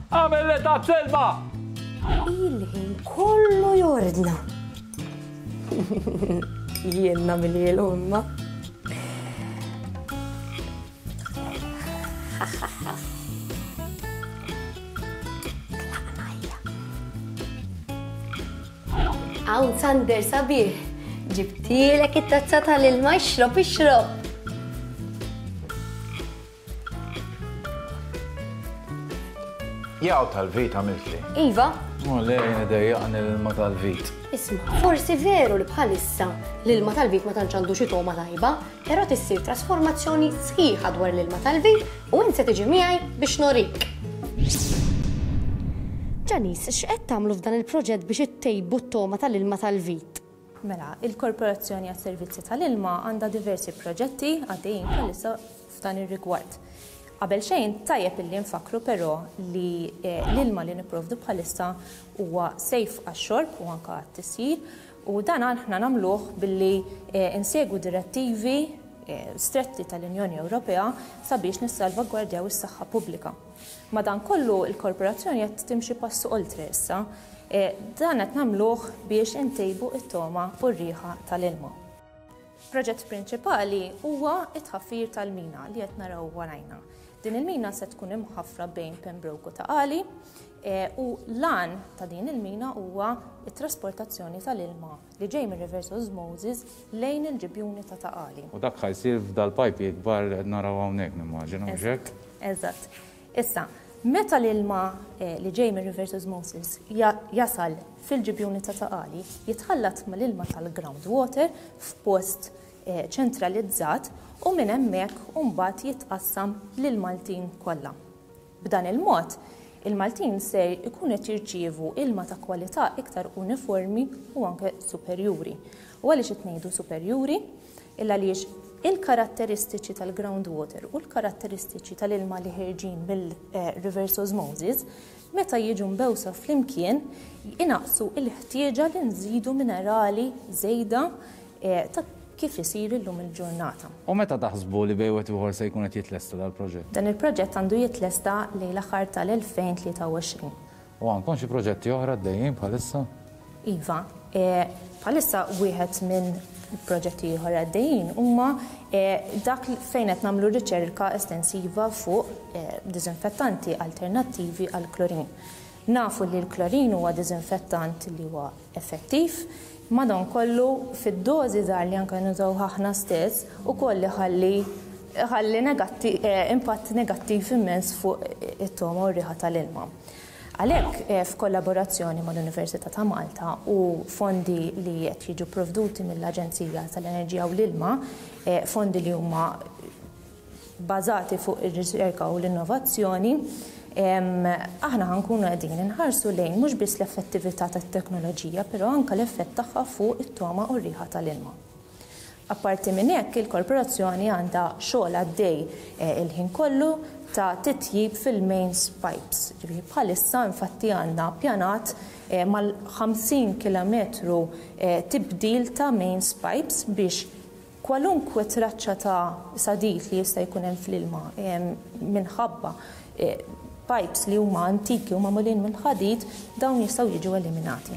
Għamel li tazza ilma! Il-ħin kollu jordna. Jien nagħmilhielu imma. Hawn Sander sabiħ, ġibtilek it-tazza tal-ilma ixrob ixrob. Jaw tal-vit għamiltli. Iva. U le, dejjaqni l-ilma tal-vit. Isma, forsi veru li bħalissa l-ilma tal-vit ma tantx għandu xi togħma tajba, però tissir trasformazzjoni sħiħa dwar l-ilma tal-vit u int se tiġi miegħi biex norik. Janice, x'qed tagħmlu f'dan il-proġett biex ittejbu t-togħma tal-ilma tal-vit? Mela, il-Korporazzjoni għas-Servizzi tal-Ilma għandha diversi proġetti għaddejjin bħalissa f'dan ir-rigward. Qabel xejn, tajjeb illi nfakkru però li l-ilma li nipprovdu bħalissa huwa safe għax-xorb u anke għat-tisjir u dan aħna nagħmluh billi insegwu direttivi stretti tal-Unjoni Ewropea sabiex nissalvagwardjaw is-saħħa pubblika. Madankollu, il-Korporazzjoni qed timxi pass oltre issa. Dan qed nagħmluh biex intejbu t-togħma u r-riħa tal-ilma. Proġett prinċipali huwa t-tħaffir tal-mina li qed naraw warajna. Din il-mina se tkun imħaffra bejn Pembroke u Ta' Qali u l-għan ta' din il-mina huwa t-trasportazzjoni tal-ilma li ġej mir-reverse osmosis lejn il-ġibjuni ta' Ta' Qali. U dak ħa jsir f'dal-pajpi kbar li qed naraw hawnhekk nimmaġina, mhux hekk? Eżatt. Issa, meta l-ilma li ġej mir-reverse osmosis jasal fil-ġibjuni ta' Ta' Qali, jitħallat mal-ilma tal-ground water f'post ċentralizzat u minn hemmhekk imbagħad jitqassam lill-Maltin kollha. B'dan il-mod, il-Maltin ser ikunu qed jirċievu ilma ta' kwalità iktar uniformi u anke superjuri. U għaliex qed ngħidu superjuri? Il għaliex il-karatteristiċi tal-ground water u l-karatteristiċi tal-ilma li ħerġin mill-reverse osmosis meta jiġu mbewsa flimkien inaqqsu l-ħtieġa li nżidu minerali żejda ta' kif isir illum il-ġurnata. U meta taħsbu li bejn wieħed u ieħor se jkun qed jitlesta dal-proġett? Dan il-proġett għandu jitlesta lejn l-aħħar tal-2023. U għandkom xi proġetti oħra għaddejjin bħalissa? Iva. Bħalissa wieħed minn proġetti ieħor għaddejjin huma dak fejn qed nagħmlu riċerka estensiva fuq diżinfettanti alternattivi għall-klorin. Nafu li l-klorin huwa diżinfettant li huwa effettiv, madankollu fid-dożi żgħar li anke nużawh aħna stess ukoll iħalli iħalli impatt negattiv immens fuq it-togħma u r-riħa tal-ilma. Għalhekk, f'kollaborazzjoni mal-Università ta' Malta u fondi li qed jiġu pprovduti mill-Aġenzija tal-Enerġija u l-Ilma, fondi li huma bbażati fuq ir-riċerka u l-innovazzjoni, aħna ħa nkunu qegħdin inħarsu lejn mhux biss l-effettività tat-teknoloġija, però anke l-effett tagħha fuq it-togħma u r-riħa tal-ilma. Apparti minn hekk, il-Korporazzjoni għandha xogħol għaddej il-ħin kollu ta' titjib fil-mains pipes. Ġifieri bħalissa infatti għandna ppjanat mal-50 kilometru tibdil ta' mains pipes biex kwalunkwe traċċa ta' sadid li jista' jkun hemm fl-ilma minħabba pipes li huma antiki u magħmulin mill-ħadid, dawn jistgħu jiġu eliminati.